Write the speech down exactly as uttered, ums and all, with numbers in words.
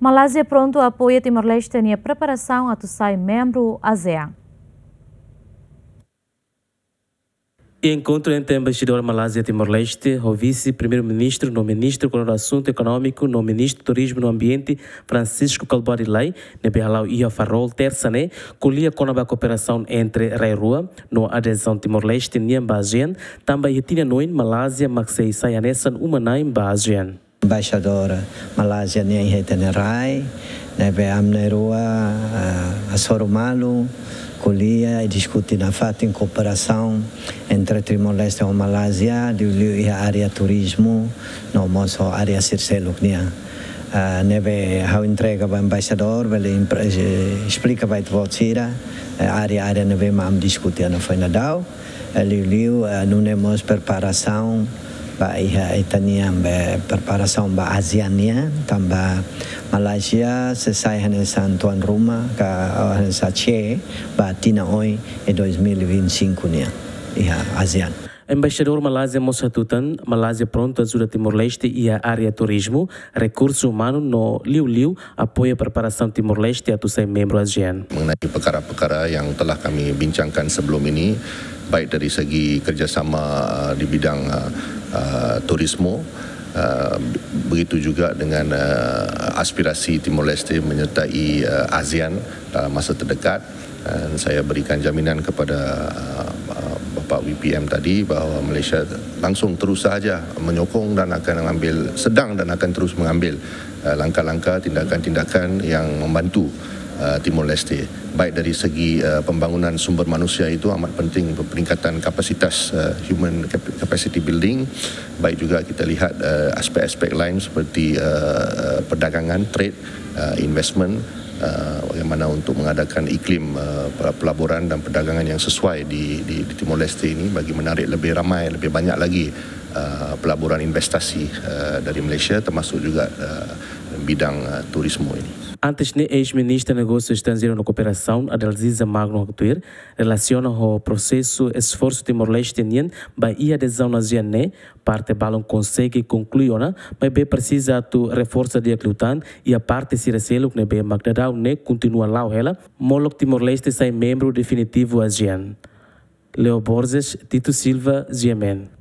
Malázia prontu apoia Timor-Leste nia preparasaun atu sai membru ASEAN. Enkontru entre Embaixadór Malázia Timor-Leste ho Vise-Primeiru-Ministru no Ministru Koordenadu Asuntu Ekonómiku no Ministru Turizmu no Ambiente, Francisco Kalbuadi Lay, ne'ebé hala'o iha Farol, Tersa ne'e, ko'alia kona-ba kooperasaun entre rai rua no adezaun Timor-Leste nian ba ASEAN, tanba iha tinan oin Malázia mak sei sai hanesan uma-na'in ba ASEAN. Embaixadór Malázia nian iha ita-nia rai, ne'ebé ami na'in-rua, ah, hasoru malu, ko'alia i diskute nafatin kooperasaun entre Timor-Leste ho Malázia, liuliu iha área turizmu, no mós ho área sira seluk nian. Ah, ne'ebé ha'u entrega ba embaixadór, bele impre-, eh, esplika ba ita-boot sira, eh, área-área ne'ebé mak ami diskute ona foin dadauk. Eh, liuliu, eh, nune'e mós preparasaun ba iha ita-nia, be, preparasaun ba ASEAN nian, tanba Malázia sei sai hanesan tuan rumah ka, eh, hanesan C E ba tinan oin iha dois mil e vinte e cinco nian iha ASEAN. Embaixadór Malázia mós hatutan, Malázia prontu ajuda Timor-Leste iha área turizmu, rekursu umanu no liuliu apoia preparasaun Timor-Leste atu sai membru ASEAN. Mengenai perkara-perkara yang telah kami bincangkan sebelum ini, baik dari segi kerjasama, uh, di bidang, uh, uh, turismo, uh, be-, begitu juga dengan, uh, aspirasi Timor-Leste menyertai, uh, ASEAN dalam masa terdekat. Dan saya berikan jaminan kepada, uh, uh, Bapak V P M tadi bahwa Malaysia langsung terus sahaja menyokong dan akan mengambil, sedang dan akan terus mengambil, uh, langkah-langkah, tindakan-tindakan yang membantu, uh, Timor-Leste, baik dari segi, uh, pembangunan sumber manusia, itu amat penting, peningkatan kapasitas, uh, human cap-, capacity building, baik juga kita lihat, uh, aspek-aspek lain seperti, uh, uh, perdagangan, trade, uh, investment, uh, bagaimana untuk mengadakan iklim, uh, pel-, pelaburan dan perdagangan yang sesuai di, di, di Timor-Leste ini bagi menarik lebih ramai, lebih banyak lagi, uh, pelaburan investasi, uh, dari Malaysia, termasuk juga, uh, bidang, uh, turismo ini. Antes ne'e, eis-Ministra Negósiu Estranjeiru no Kooperasaun, Adalziza Magno, haktuir, relasiona ho prosesu esforsu Timor-Leste nian ba iha adezaun ASEAN ne'e, parte balun konsege konklui ona, maibé presiza atu reforsa di'ak liután, iha parte sira seluk ne'ebé mak daudaun ne'e kontinua la'o hela, molok Timor-Leste sai membru definitivu ASEAN. Leo Borges, Tito Silva, G M N.